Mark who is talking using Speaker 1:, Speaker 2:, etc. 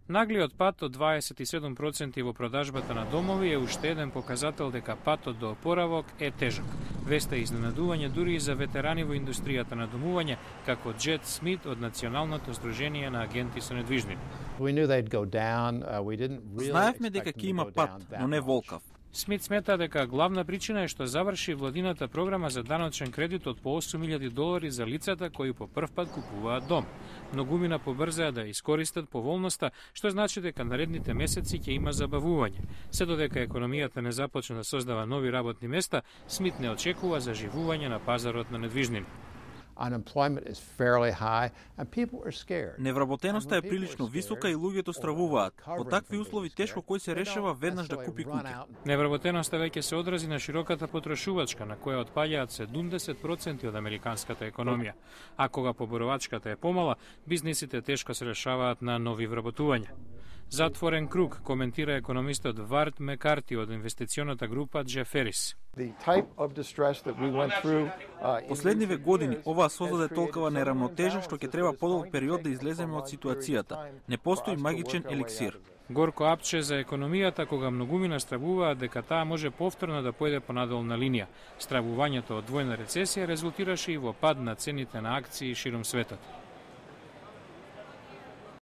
Speaker 1: Наглиот пат од 27% во продажбата на домови е уште еден показател дека патот до опоравок е тежок. Веста е изненадување дури и за ветерани во индустријата на домување, како Джет Смит од Националното здружение на агенти со недвижнини.
Speaker 2: Знаевме дека ќе има пат, но не волкав.
Speaker 1: Смит смета дека главна причина е што заврши владината програма за даночен кредит од по $8.000 за лицата кои по прв пат купуваат дом. Многумина побрзаа да искористат поволноста, што значи дека наредните месеци ќе има забавување. Се додека економијата не започне да создава нови работни места, Смит не очекува заживување на пазарот на недвижнини.
Speaker 2: Невработеноста е прилично висока и луѓето стравуваат. По такви услови тешко кој се решава веднаш да купи куќа.
Speaker 1: Невработеноста веќе се одрази на широката порошувачка, на која отпаѓаат 70% од американската економија. А кога поборовачката е помала, бизнисите тешко се решаваат на нови вработувања. Затворен круг, коментира економистот Варт Мекарти од инвестиционата група Джеферис.
Speaker 2: Последниве години оваа создаде толкова неравнотежа што ќе треба подолг период да излеземе од ситуацијата. Не постои магичен еликсир.
Speaker 1: Горко апче за економијата кога многумина стравуваат дека таа може повторно да појде по надолна линија. Стравувањето од двојна рецесија резултираше и во пад на цените на акции широм светот.